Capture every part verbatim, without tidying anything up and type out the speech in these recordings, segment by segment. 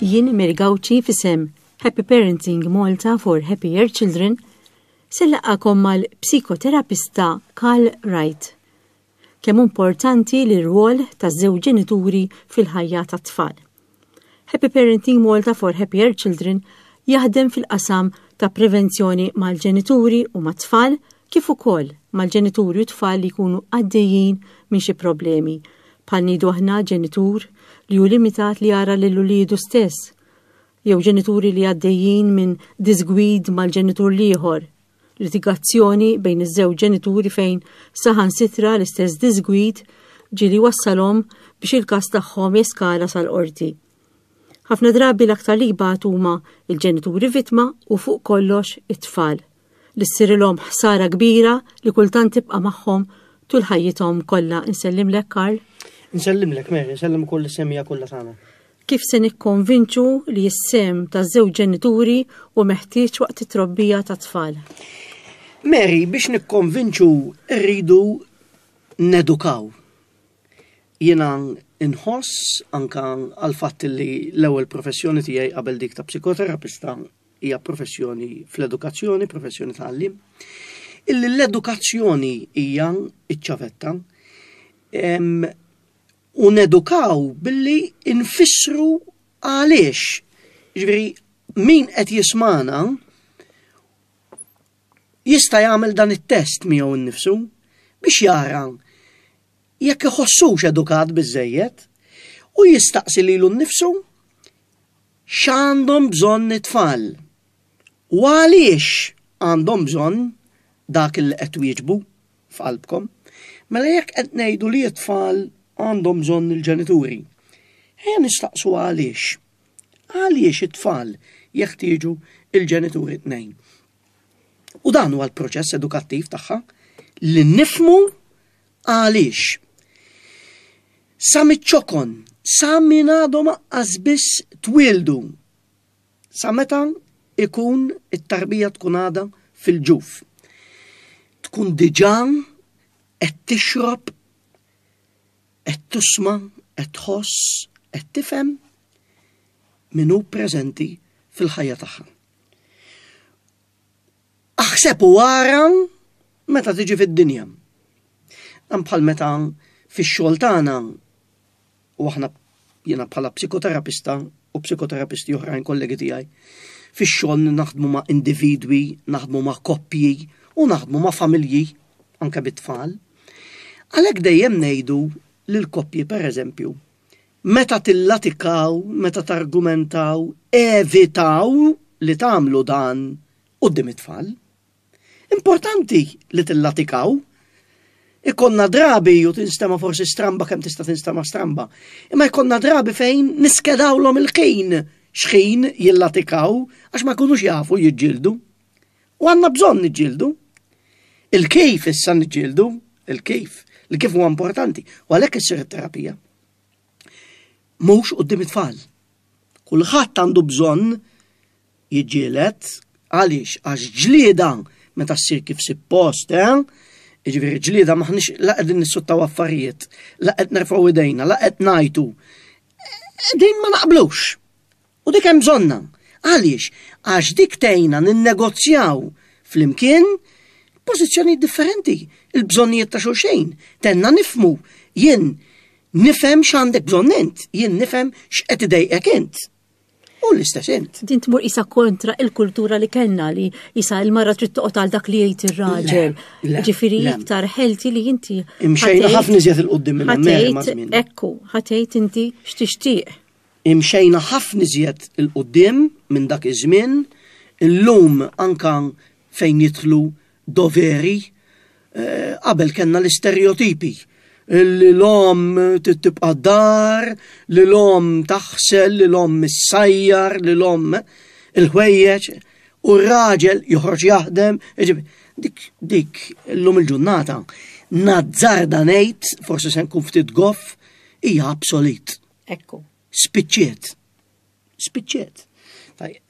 Jien Mary Gauci f'isem Happy Parenting Malta for Happier Children se nlaqqagħkom mal-psikoterapista Carl Wright. Kemm importanti li r-rwol taż-żewġ ġenituri fil-ħajja tat-tfal. Happy Parenting Malta for Happier Children jaħdem fil-qasam ta' prevenzjoni mal-ġenituri u mat-tfal kif ukoll mal-ġenituri u tfal li jkunu għaddejjin minn xi problemi. Bħal ngħidu aħna ġenitur li hu limitat li jara lil uliedu stess, jew ġenituri li għaddejjin minn disgwid mal-ġenitur l-ieħor, litigazzjoni bejn iż-żewġ ġenituri fejn saħansitra l-istess disgwid ġieli wassalhom biex il-każ tagħhom jeskala sal-qorti. Ħafna drabi l-aktar li jbatu huma il-ġenituri vittma u fuq kollox it-tfal li ssirilhom ħsara kbira li kultant tibqa' magħhom tul ħajjithom kollha. Insellimlek Karl. Nsellimlek Mary, nsellem ukoll is-semmiegħa kollha tagħna. Kif se nikkonvinċu li s-sehem taż-żewġ ġenituri hu meħtieġ waqt it-trobbija ta' tfal? Mary, biex nikkonvinċu rridu nedukaw. Jiena nħoss anka għal fatt li l-ewwel professjoni tiegħi qabel dik ta' psikoterapista hija professjoni fl-edukazzjoni, professjoni ta' għalliem, illi l-edukazzjoni hija iċ-ċavetta. U nedukaw billi nfissru għaliex. Ġifieri, min qed jismana jista' jagħmel dan it-test miegħu nnifsu biex jara jekk iħossux edukat biżejjed u jistaqsi lilu nnifsu x'għandhom bżonn it-tfal u għaliex għandhom bżonn dak li qed twieġbu f'qalbkom. Mela jekk qed ngħidu li t-tfal għandhom bżonn il-ġenituri, ejja nistaqsu għaliex. Għaliex it-tfal jeħtieġu il-ġenituri tnejn. U dan huwa l-proċess edukattiv tagħha li nifhmu għaliex. Sa miċ-ċokon, sa minn għadhom anqas biss twildu, sa meta ikun it-tarbija tkun għadha fil-ġuf. Tkun diġà qed tixrob, qed tisma', qed tħoss, qed tifhem min hu preżenti fil-ħajja tagħha. Aħseb u ara meta tiġi fid-dinja. Dan bħal meta fix-xogħol tagħna u aħna jiena bħala psikoterapista u psikoterapisti oħrajn kollegi tiegħi, fix-xogħol naħdmu ma' individwi, naħdmu ma' koppji u naħdmu ma' familji anke bit-tfal. Għalhekk dejjem ngħidu lil koppji pereżempju, meta tillatikaw, meta targumentaw, evitaw li tagħmlu dan quddiem it-tfal. Importanti li tillatikaw. Ikollna drabi u tinstema forsi stramba kemm tista' tinstema stramba. Imma jkollna drabi fejn niskedawlhom il-ħin x'ħin jillatikaw għax ma jkunux jafu jiġġieldu. U għandna bżonn niġġieldu. Il-kif issa niġġieldu, il-kif, il-kif huwa importanti. U għalhekk issir it-terapija. Mhux quddiem it-tfal. Kulħadd għandu bżonn jiġġieled għaliex għax ġlieda meta ssir kif suppost, eh? Jiġifieri ġlieda maħniex la qegħdin nissuttaw affarijiet, la qed nerfgħu idejna, la qed ngħajtu. Din ma naqblux. U dik hemm bżonna. Għaliex? Għax dik tgħinna ninnegozjaw flimkien pożizzjonijiet differenti, il-bżonnijiet ta' xulxejn. Tgħinna nifhmu, jien nifhem x'għandek bżonn int, jien nifhem x'qed idejqek int. U l-istess int. Din tmur isa kontra il-kultura li kellna li isa il-mara trid toqgħod għal dak li jgħid ir-raġel. Le, Ġifieri le. iktar healthy li inti Imxejna ħa tgħid ħafna iżjed 'il quddiem minn hemm, ħa tgħid ma' żmien. Ekku, ħa tgħid inti x'tixtieq. Imxejna ħafna iżjed 'il quddiem minn dak iż-żmien, illum anka fejn jidħlu doveri, eh, qabel kellna l-istereotipi. Li l-omm tibqa' dar, li l-omm taħsel, li l-omm issajjar, li l-omm il-ħwejjeġ, u r-raġel joħroġ jaħdem. Ġifieri, dik, dik illum il-ġurnata nazzarda ngħid, forsi se nkun ftit goff, hija obsolet. Ekku. Spiċċiet. Spiċċiet. Tajjeb.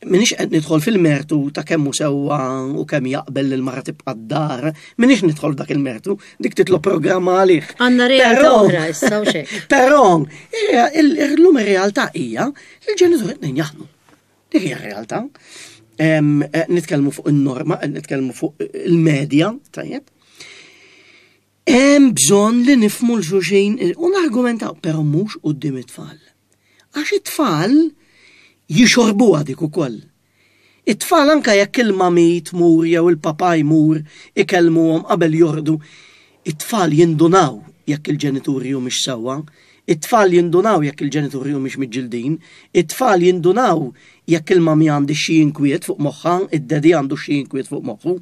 M'iniex qed nidħol fil-mertu ta' kemm hu sewwa u kemm jaqbel li l-mara tibqa' d-dar, m'iniex nidħol f'dak il-mertu, dik titlob programma għalih. Għandna realtà oħra issa u xejn. Però illum ir-realtà hija li l-ġenituri tnejn jaħdmu. Dik hija r-realtà. Nitkellmu fuq in-norma, nitkellmu fuq il-medja, tajjeb. Hemm bżonn li nifhmu 'l xulxin u nargumentaw, però mhux quddiem it-tfal. Għax it-tfal jixorbuha dik ukoll. It-tfal anka jekk il-mami tmur jew il-papa jmur ikellmuhom qabel jorqdu, it-tfal jindunaw jekk il-ġenituri humiex sewwa, it-tfal jindunaw jekk il-ġenituri humiex miġġildin, it-tfal jindunaw jekk il-mami għandi xi inkwiet fuq moħħha, id-daddy għandu xi inkwiet fuq moħħu.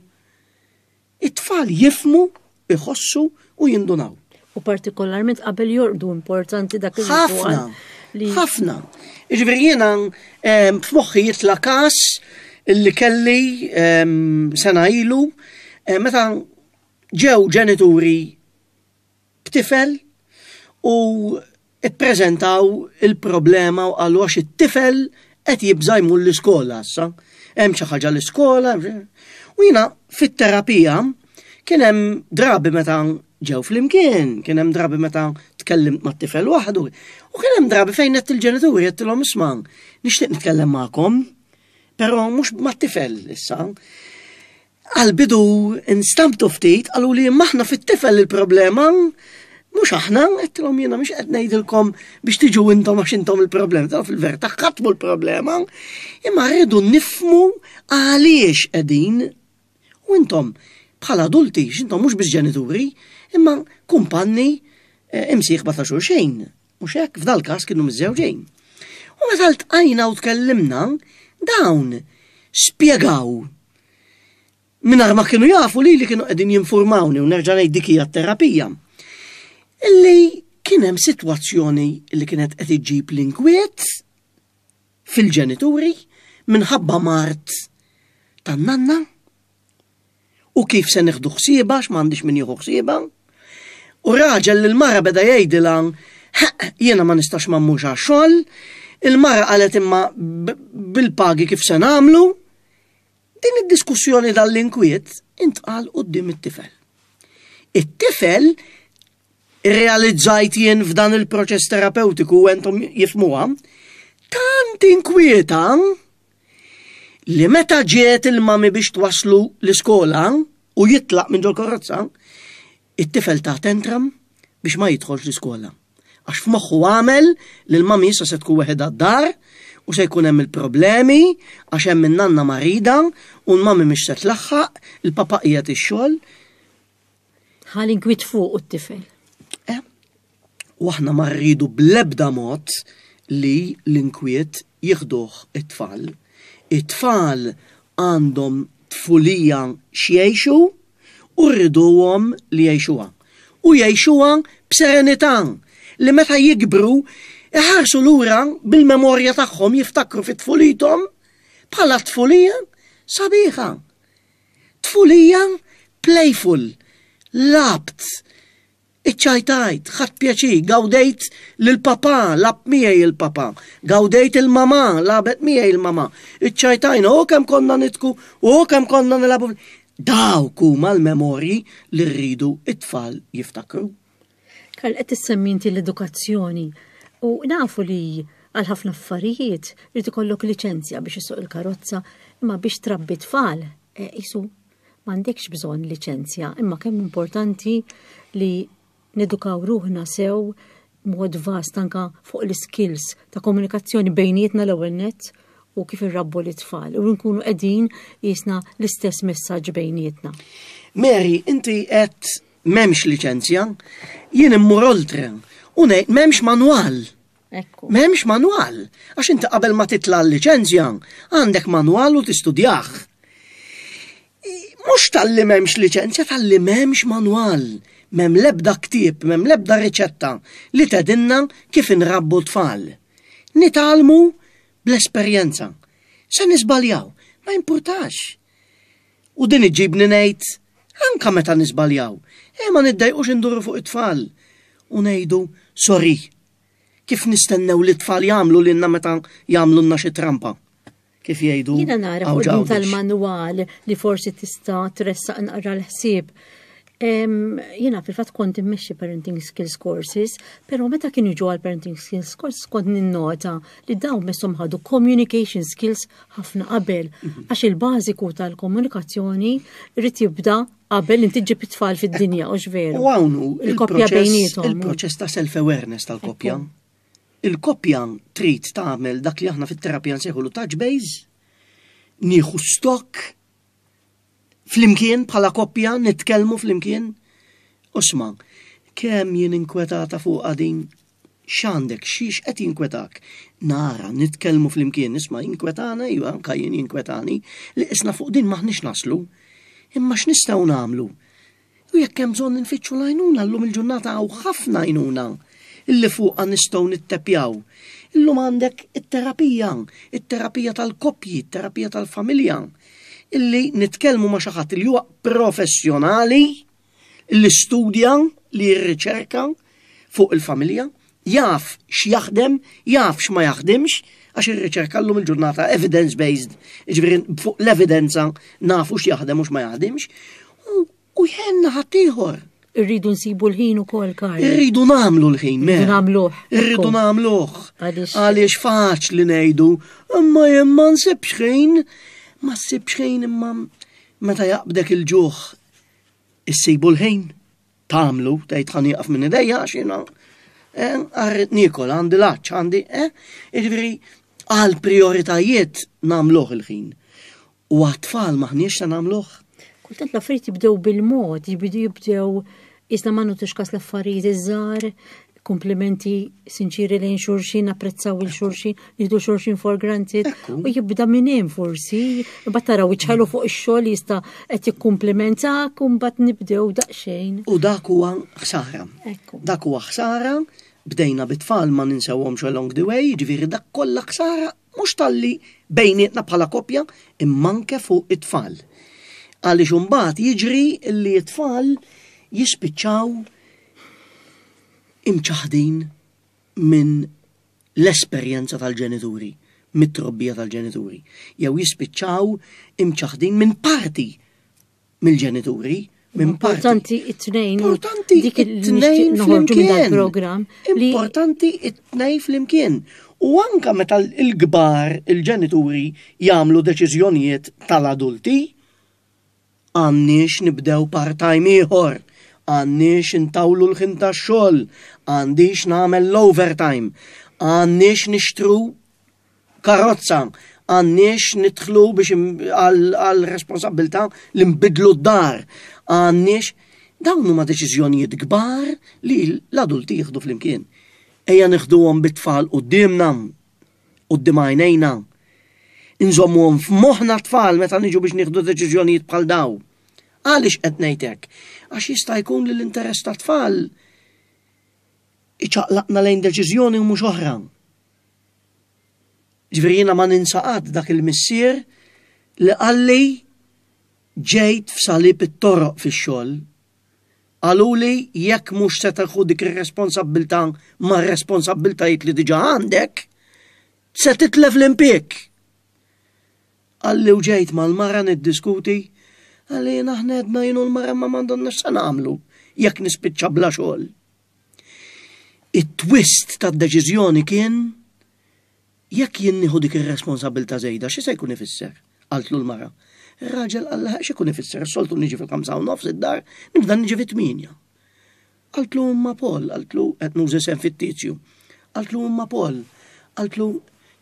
It-tfal jifhmu, iħossu u jindunaw. U partikolarment qabel jorqdu, importanti dak il Ħafna, ħafna. Jiġifieri jiena f'moħħi jitla' każ illi kelli sena ilu meta ġew ġenituri b'tifel u ippreżentaw il-problema u qalu għax it-tifel qed jibża' jmur l-iskola issa. Hemm xi ħaġa l-iskola. U jiena fit-terapija kien hemm drabi meta ġew flimkien, kien hemm drabi meta tkellimt mat-tifel waħdu, u kien hemm drabi fejn għedt il-ġenituri, għedtilhom, "Isma', nixtieq nitkellem magħkom, però mhux mat-tifel issa." Għal-bidu instamtu ftit, qalu li aħna fit-tifel il-problema, mhux aħna. Għedtilhom jiena mhux qed ngħidilkom biex tiġu intom għax intom il-problema, ta' fil-verità ħadd mhu l-problema, imma rridu nifhmu għaliex qegħdin u intom bħala adulti, x'intom mhux biss ġenituri, imma kumpanni, eh, imsieħba ta' xulxejn. Mhux hekk, f'dal każ kienu miżżewġejn. U meta ltqajna u tkellimna, dawn spjegaw mingħajr ma kienu jafu li li kienu qegħdin jinformawni, u nerġa' ngħid dik hija terapija. Illi kien hemm sitwazzjoni li kienet qed iġġib l-inkwiet fil-ġenituri minħabba mard tan-nanna u kif se nieħdu ħsiebha x'm'għandix min jieħu ħsiebha. U raġel li l-mara beda jgħidilha, "Jiena ma nistax ma mmurx għax-xogħol", il-mara qalet, "Imma bil-pagi kif se nagħmlu?" Din id-diskussjoni, dal-inkwiet intqal quddiem it-tifel. It-tifel, realizzajt jien f'dan il-proċess terapeutiku u entom jifhmuha, tant inkwieta li meta ġiet il-mami biex twaslu l-iskola u jitlaq minn ġol karozza, it-tifel ta tantrum biex ma jidħolx l-iskola. Għax f'moħħu għamel li l-mami issa se tkun weħidha d-dar u se jkun hemm il-problemi għax hemm in-nanna marida u l-mami mhix se tlaħħaq, il-papa qiegħed ix-xogħol. Ħa l-inkwiet fuq it-tifel. Eh, u aħna ma rridu bl-ebda mod li l-inkwiet jieħduh it-tfal. It-tfal għandhom tfulija x'jgħixu u rriduhom li jgħixuha. U jgħixuha b'serenità li meta jikbru iħarsu lura bil-memorja tagħhom, jiftakru fit tfulithom bħala tfulija sabiħa. Tfulija playful, lgħabt, iċċajtajt, ħadt pjaċir, gawdejt l-papa, lagħab miegħi il-papa, gawdejt il-mama, lagħbet miegħi il-mama, iċċajtajna, u kemm konna nidħku, u kemm konna nilagħbu. Dawk huma l-memorji li rridu it-tfal jiftakru. Karl, qed issemmi inti l-edukazzjoni u nafu li għal ħafna affarijiet irid ikollok liċenzja biex issuq il-karozza, imma biex trabbi tfal eh, isu m'għandekx bżonn liċenzja, imma kemm importanti li nedukaw ruħna sew mod vast anka fuq l-skills ta' komunikazzjoni bejnietna l-ewwel nett u kif irrabbu l-tfal u nkunu qegħdin jisna l-istess messaġġ bejnietna. Mary, inti qed m'hemmx liċenzja, jien immur oltre u ngħid m'hemmx manwal. Ekku. M'hemmx manwal, għax inti qabel ma titla' l-liċenzja għandek manwal u tistudjah. Mhux talli m'hemmx liċenzja, talli m'hemmx manwal. M'hemm lebda ktieb, m'hemm lebda riċetta li tgħidilna kif inrabbu tfal. Nitgħallmu bl-esperjenza. Se niżbaljaw, ma importax. U din iġibni ngħid, anka meta niżbaljaw, e ma niddejqux induru fuq it-tfal u ngħidu sorry. Kif nistennew li t-tfal jagħmlu lilna meta jagħmlulna xi trampa? Kif jgħidu. Jiena nara fuq din tal-manwal li forsi tista' tressaq naqra l-ħsieb. Jiena fil-fatt kont immexxi parenting skills courses, però meta kienu jiġu għal parenting skills courses kont ninnota li dawn messhom ħadu communication skills ħafna qabel, mhm. għax il-bażiku tal-komunikazzjoni rrid jibda qabel inti ġib it-tfal fid-dinja, u veru. U hawn hu il-koppja bejniethom. Il-proċess ta' self-awareness tal-koppja. Il-koppja trid tagħmel dak li aħna fit-terapija nsejħulu touch base, nieħu stock flimkien bħala koppja, nitkellmu flimkien. Isma', kemm jien inkwetata fuq din, x'għandek, xiex qed jinkwetak? Nara, nitkellmu flimkien, isma' jinkwetana, iva, anka jien jinkwetani, li isna fuq din m'aħniex naslu. Imma x'nistgħu nagħmlu? U jekk hemm bżonn nfittxu l-għajnuna, llum il-ġurnata hawn ħafna għajnuna illi fuqha nistgħu nittepjaw. Illum għandek it-terapija, it-terapija tal-koppji, it-terapija tal-familja, illi nitkellmu ma' xi ħadd li huwa professjonali, li studja, li jirriċerka fuq il-familja, jaf x'jaħdem, jaf x'ma jaħdimx, għax ir-riċerka llum il-ġurnata evidence-based, ġifieri fuq l-evidenza nafu x'jaħdem u x'ma jaħdimx, u jgħinna ħaddieħor. Irridu nsibu l-ħin ukoll, Karl. Irridu nagħmlu l-ħin, Irridu nagħmluh. Irridu nagħmluh. Għaliex faċli ngħidu, imma jien ma nsibx ħin, ma ssibx ħin, imma meta jaqbdek il-ġuħ issibu l-ħin tagħmlu, tgħid ħa nieqaf minn idejja għax jiena għarrit niekol, għandi l-għatx, għandi, eh, jiġifieri għal prioritajiet nagħmluh il-ħin. U għat-tfal m'aħniex se nagħmluh. Kultant l-affarijiet jibdew bil-mod, jibdew jibdew isna ma nagħtux kas l-affarijiet iż-żgħar, komplimenti sinċiri lejn xulxin, apprezzaw il xulxin, nieħdu xulxin for granted, u jibda minn hemm forsi, imbagħad taraw iċ-ċelu fuq ix-xogħol jista' qed jikkumplimentak u mbagħad nibdew daqsxejn. U dak huwa ħsara. Dak huwa ħsara, bdejna bit-tfal ma ninsewhomx along the way, ġifieri dak kollha ħsara mhux talli bejnietna bħala koppja imma anke fuq it-tfal. Għaliex imbagħad jiġri li t-tfal jispiċċaw imċaħdin minn l-esperjenza tal-ġenituri, mit-trobbija tal-ġenituri, jew jispiċċaw imċaħdin minn parti mill-ġenituri, minn parti. Importanti it-tnejn. Importanti dik it-tnejn noħorġu minn flimkien. dal-programm li Importanti it-tnejn flimkien. U anka meta il-kbar, il-ġenituri jagħmlu deċiżjonijiet tal-adulti, għandniex nibdew part-time ieħor, għandniex intawlu l-ħin tax-xogħol, għandix nagħmel l-overtime, għandniex nixtru karozza, għandniex nidħlu biex għal responsabbiltà li nbidlu d-dar, għandniex dawn huma deċiżjonijiet kbar li l-adulti jieħdu flimkien. Ejja nieħduhom bit-tfal quddiemna, quddiem għajnejna. Inżommuhom f'moħħna tfal meta niġu biex nieħdu deċiżjonijiet bħal daw. Għaliex qed ngħid hekk? Għax jista' jkun li l-interess tat-tfal iċaqlaqna lejn deċiżjoni u mhux oħra. Ġifieri jiena ma ninsa qatt dak il-missier li qalli ġejt f'salib it-toroq fix-xogħol. Qaluli jekk mhux se tieħu dik ir-responsabbiltà mar-responsabbiltajiet li diġà għandek, se titlef l-impjieg. Qalli u ġejt mal-mara niddiskuti, qalli jiena aħna għedna jien u l-mara ma m'għandhomx se nagħmlu jekk nispiċċa bla xogħol. It-twist tad-deċiżjoni kien jekk jien nieħu dik ir-responsabbiltà żejda, xi se jkun ifisser? Qaltlu l-mara. Ir-raġel qal xi jkun ifisser, soltu niġi fil-ħamsa u nofs id-dar, nibda niġi fit-tmienja. Qaltlu imma Paul, qaltlu qed nuża isem fittizju. Qaltlu imma Paul, qaltlu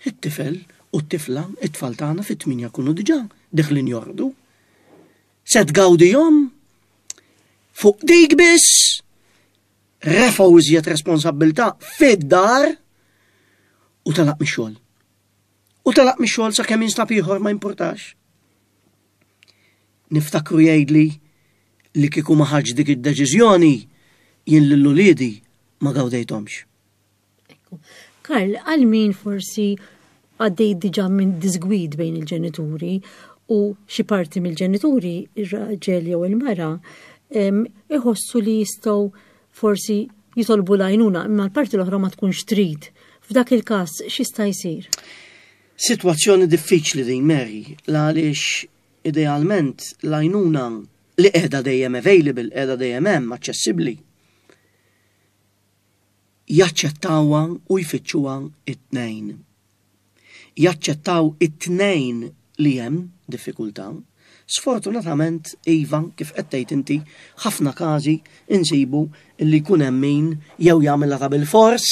it-tifel u t-tifla, it-tfal tagħna fit-tmienja jkunu diġà deħlin jorqdu. Se tgawdihom fuq dik biss, refgħu iżjed responsabbiltà fid-dar u telaq mix-xogħol. U telaq mix-xogħol sakemm jinstab ieħor ma jimpurtax. Niftakru jgħidli li kieku ma ħadx dik id-deċiżjoni jien lil uliedi ma gawdejthomx. Karl, għal min forsi għaddej diġà minn disgwid bejn il-ġenituri u xi parti mill-ġenituri, ir-raġel jew il-mara, iħossu li jistgħu forsi jitolbu l-għajnuna, imma l-parti l-oħra ma tkunx trid. F'dak il-każ x'jista' jsir? Sitwazzjoni diffiċli din, Mary, għaliex idealment l-għajnuna li qiegħda dejjem available, qiegħda dejjem hemm aċċessibbli, jaċċettawha u jfittxuha it-tnejn. Jaċċettaw it-tnejn li hemm diffikultà. Sfortunatament, iva, kif qed tgħid inti, ħafna każi insibu li jkun hemm min jew jagħmilha ta' bil-fors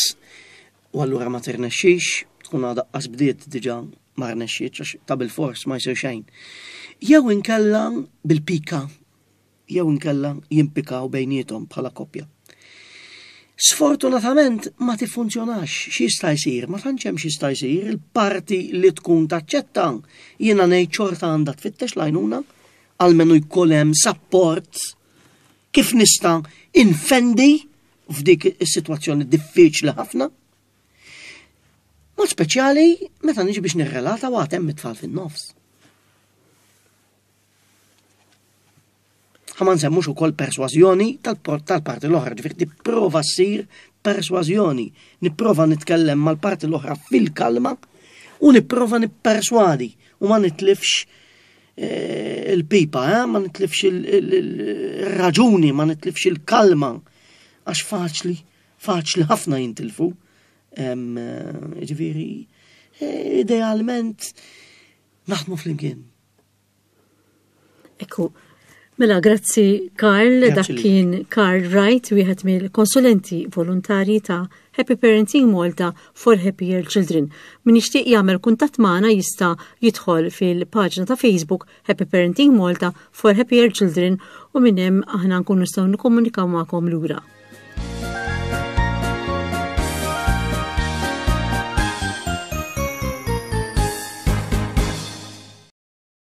u allura ma tirnexxix, tkun għadha qas bdiet diġà ma rnexxietx għax ta' bil-fors ma jsir xejn. Jew inkella bil-pika, jew inkella jimpikaw bejniethom bħala koppja. Sfortunatament ma tiffunzjonax. X'jista' jsir? Ma tantx hemm x'jista' jsir. Il-parti li tkun taċċetta, jiena ngħid, xorta għandha tfittex l-għajnuna, almenu jkun hemm support kif nista' infendi f'dik is-sitwazzjoni diffiċli ħafna. Mod speċjali meta niġi biex nirrelata u hemm it-tfal fin-nofs. Ħa ma nsemmux ukoll persważjoni tal-parti l-oħra, ġifieri tipprova ssir persważjoni, nipprova nitkellem mal-parti l-oħra fil-kalma u nipprova nipperswadi u ma nitlifx eh, il-pipa, eh? Ma nitlifx il-raġuni, ma nitlifx il-kalma, għax faċli, faċli ħafna jintilfu. Eh, ġifieri, eh, idealment naħdmu flimkien. Ekku, mela grazzi Karl, dak kien Karl Wright, wieħed mill-konsulenti volontari ta' Happy Parenting Malta for Happier Children. Min jixtieq jagħmel kuntatt magħna jista' jidħol fil-paġna ta' Facebook Happy Parenting Malta for Happier Children u minn hemm aħna nkunu nistgħu nikkomunikaw magħkom lura.